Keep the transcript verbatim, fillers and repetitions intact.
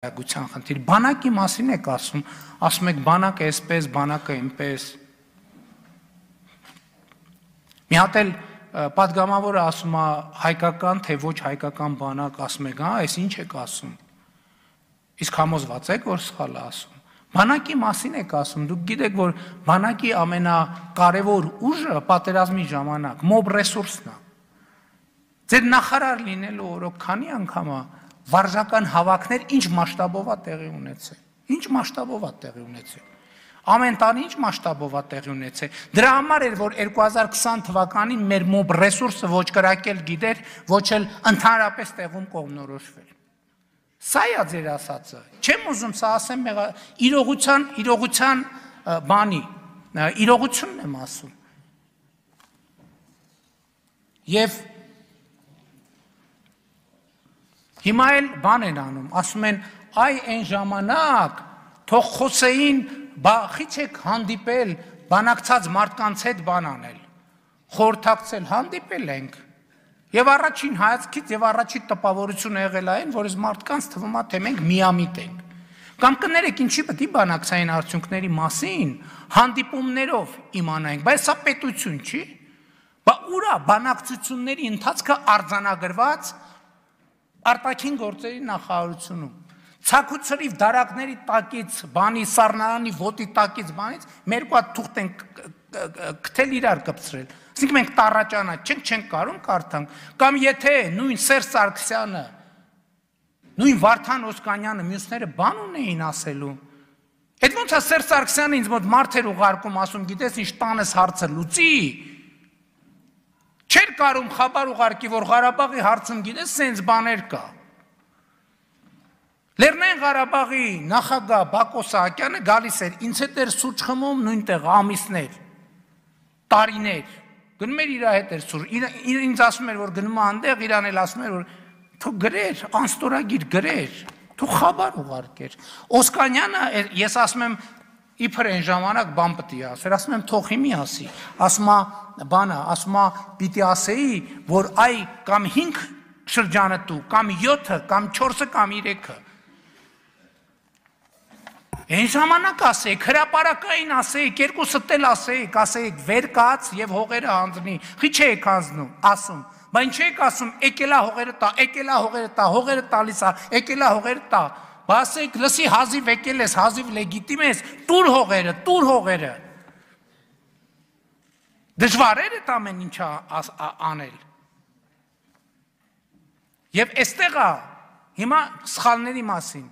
Գուցան խնդիր, բանակի մասին եք ասում, ասում եք բանակը այսպես, բանակը այնպես։ Մի հատ էլ պատգամավորը ասում է հայկական, թե ոչ հայկական բանակ, ասում եք, հա, այս ինչ եք ասում։ Իսկ համոզված եք, որ սխալ է ասում։ Բանակի մասին եք ասում, դուք գիտեք, որ բանակի ամենակարևոր ուժը պատերազմի ժամանակ մոբ ռեսուրսն է։ Ձեր նախարար լինելու օրոք քանի անգամ է վարժական հավաքներ ինչ մասշտաբով է տեղի ունեցել։ Ինչ մասշտաբով է տեղի ունեցել։ Ամեն տարի ինչ մասշտաբով է տեղի ունեցել։ Դրա համար էր, որ երկու հազար քսան թվականին մեր մոբ ռեսուրսը ոչ կրակել գիտեր, ոչ էլ ընդհանրապես տեղում կողմնորոշվել։ Սա է ձեր ասածը։ Չեմ ուզում սա ասեմ իրողության, իրողության բանի, իրողությունն եմ ասում։ Եվ հիմա էլ բան են անում, ասում են, այ այն ժամանակ թող խոսեին, խի չեք հանդիպել, բանակցած մարդկանց հետ բան անել, խորհրդակցել, հանդիպել ենք, եւ առաջին հայացքից եւ առաջին տպավորությունը եղել այն, որ այս մարդկանց թվում է, թե մենք միամիտ ենք։ Կամ կներեք, ինչի պետք է բանակցային արդյունքների մասին հանդիպումներով իմանանք, բայց սա պետություն չի։ Բա ուր է բանակցությունների ընթացքը արձանագրված արտաքին գործերի նախարարությունում։ Ցակուցրիվ դարակների տակից, բանի սառնարանի ոտի տակից բանից մեր կողմը թուղթ են քթել իրար կպցրել։ Ասենք մենք տառաճանա չենք, չենք կարում կարդանք։ Կամ եթե նույն Սերժ Սարգսյանը, նույն Վարդան Օսկանյանը, մյուսները բան ունեին ասելու։ Այդ ոնց է Սերժ Սարգսյանը ինձ մոտ մարդ էր ուղարկում, ասում, գիտես ինչ տանես հարցը լուծի։ Չէր կարում խաբար ուղարկի, որ Ղարաբաղի հարցում գիտես սենց բաներ կա։ Լեռնային Ղարաբաղի նախագահ Բակո Սահակյանը գալիս էր, ինձ հետ էր սուրճ խմում նույնտեղ ամիսներ, տարիներ, գնում էր իր հետ էր սուրճ, ինձ ասում էր, որ գնում է այնտեղ, իրան էլ ասում էր, որ թող գրեր, անստորագիր գրեր, թող խաբար ուղարկեր։ Օսկանյանը, ես ասում եմ, իբր այն ժամանակ բան պետք է ասեր, ասում եմ թող հիմի ասի, ասում է բանը, ասում է պիտի ասեի, որ այ կամ հինգ շրջանատու, կամ յոթը, կամ չորսը, կամ երեքը։ Այն ժամանակ ասեիք, հրապարակային ասեիք, երկուսը տել ասեիք, ասեիք վեր կաց եւ հողերը հանձնի, խի չեք հանձնում, ասում, բա ինչ եք ասում, եկելա հողերը տա, եկելա հողերը տա, հողերը տալիս է, եկելա հողերը տա, բա ասեիք լսի հազիվ եկել ես, հազիվ լեգիտիմ ես, տուր հողերը, տուր հողերը։ Դժվար էր այդ ամեն ինչը անել։ Եվ այստեղ է հիմա սխալների մասին